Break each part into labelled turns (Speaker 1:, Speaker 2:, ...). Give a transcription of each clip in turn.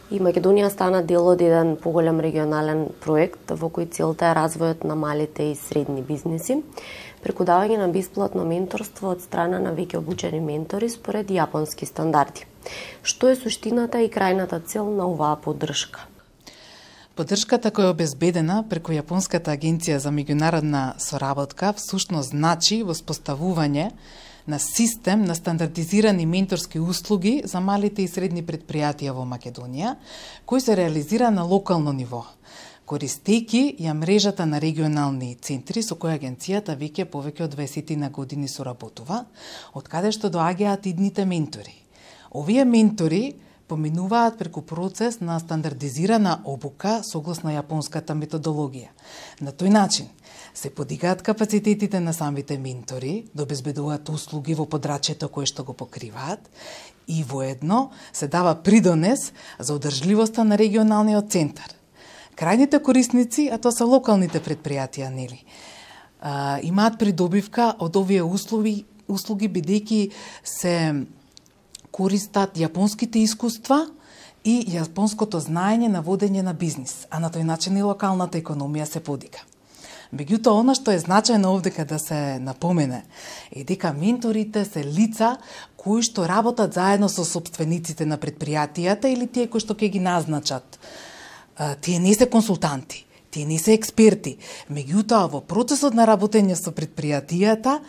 Speaker 1: И Македонија стана дел од еден поголем регионален проект во кој целта е развојот на малите и средни бизниси, преку давање на бесплатно менторство од страна на веќе обучени ментори според јапонски стандарди. Што е суштината и крајната цел на оваа поддршка?
Speaker 2: Поддршката која е обезбедена преку Јапонската агенција за меѓународна соработка всушност значи воспоставување на систем на стандардизирани менторски услуги за малите и средни предпријатија во Македонија, кој се реализира на локално ниво, користејќи ја мрежата на регионални центри со која агенцијата веќе повеќе од 20 на години соработува, од каде што доаѓаат идните ментори. Овие ментори поминуваат преку процес на стандардизирана обука согласно јапонската методологија. На тој начин се подигаат капацитетите на самите ментори да обезбедуваат услуги во подрачјето кое што го покриваат и воедно се дава придонес за одржливоста на регионалниот центар. Крајните корисници, а тоа се локалните предпријатија, нели, имаат придобивка од овие услуги бидејќи се користат јапонските искуства и јапонското знаење на водење на бизнис, а на тој начин и локалната економија се подига. Меѓутоа, она што е значајно овдека да се напомене е дека менторите се лица кои што работат заедно со сопствениците на предпријатијата или тие кои што ќе ги назначат. Тие не се консултанти, тие не се експерти, меѓутоа во процесот на работење со предпријатијата,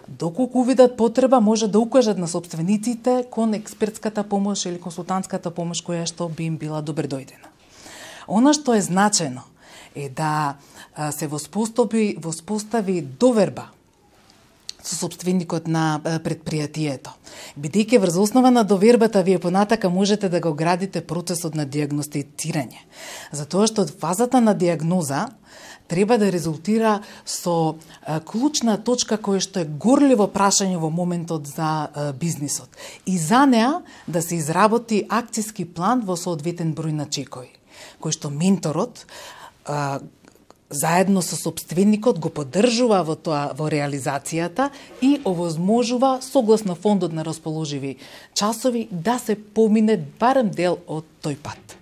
Speaker 2: доколку увидат потреба, може да укажат на сопствениците кон експертската помош или консултантската помош која што би им била добредојдена. Она што е значено е да се воспостави доверба со сопственикот на предпријатието. Бидејќи врз основа на довербата вие понатака можете да го градите процесот на дијагностицирање. Затоа што фазата на дијагноза треба да резултира со клучна точка која што е горливо прашање во моментот за бизнисот. И за неа да се изработи акцијски план во соодветен број на чекои, кој што менторот заедно со сопственикот го поддржува во реализацијата и овозможува согласно фондот на расположиви часови да се помине барем дел од тој пат.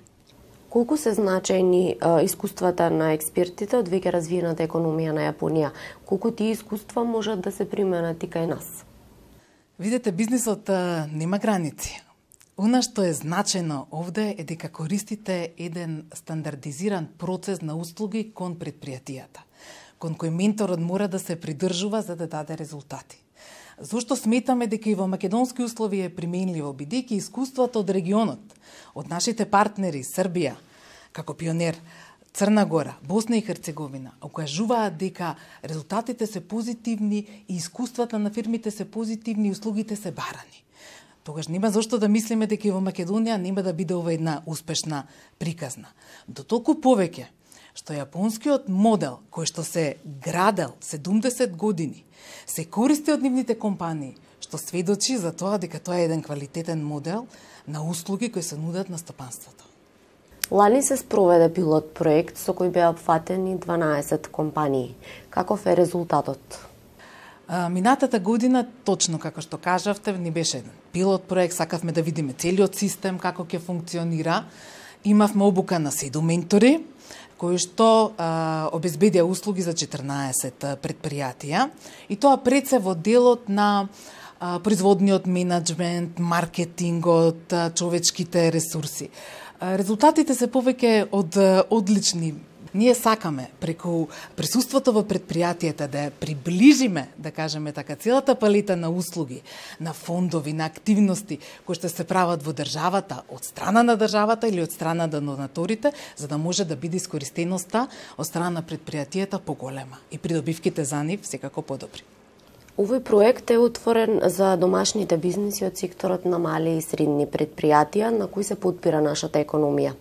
Speaker 1: Колку се значајни искуствата на експертите од веќе развиената економија на Јапонија? Колку тие искуства можат да се применат и кај нас?
Speaker 2: Видете, бизнисот нема граници. Она што е значено овде е дека користите еден стандардизиран процес на услуги кон предпријатијата, кон кој менторот мора да се придржува за да даде резултати. Зошто сметаме дека и во македонски услови е применливо, бидејќи искуството од регионот, од нашите партнери Србија, како пионер, Црна Гора, Босна и Херцеговина, окажуваат дека резултатите се позитивни и искуствата на фирмите се позитивни и услугите се барани. Тогаш нема зошто да мислиме дека и во Македонија нема да биде ова една успешна приказна. До толку повеќе што јапонскиот модел кој што се градел 70 години се користи од нивните компании, што сведочи за тоа дека тоа е еден квалитетен модел на услуги кои се нудат на стопанството.
Speaker 1: Лани се спроведе пилот проект со кој беа опфатени 12 компании. Каков е резултатот?
Speaker 2: Минатата година, точно како што кажавте, ни беше еден пилот проект, сакавме да видиме целиот систем, како ќе функционира. Имавме обука на 7 ментори, кои што обезбедија услуги за 14 предпријатија. И тоа пред се во делот на производниот менеджмент, маркетингот, човечките ресурси. Резултатите се повеќе од одлични. Ние сакаме преку присуството во предпријатијата да приближиме, да кажеме така, целата палета на услуги, на фондови, на активности кои што се прават во државата, од страна на државата или од страна на донаторите, за да може да биде искористеноста од страна на предпријатијата поголема и придобивките за нив секако подобри.
Speaker 1: Овој проект е отворен за домашните бизниси од секторот на мали и средни предпријатија на кои се подпира нашата економија.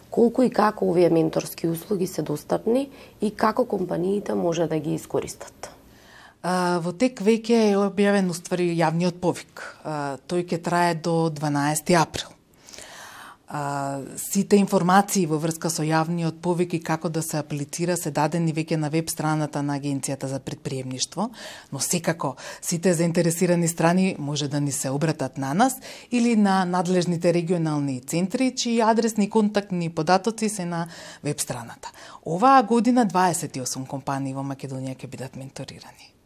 Speaker 1: Колку и како овие менторски услуги се достапни и како компаниите може да ги искористат?
Speaker 2: Во тек веќе е објавен уствари јавниот повик. Тој ќе трае до 12 април. Сите информации во врска со јавниот повик и како да се аплицира се дадени веќе на веб страната на Агенцијата за претприемништво, но секако сите заинтересирани страни може да ни се обратат на нас или на надлежните регионални центри, чии адресни и контактни податоци се на веб страната. Оваа година 28 компании во Македонија ќе бидат менторирани.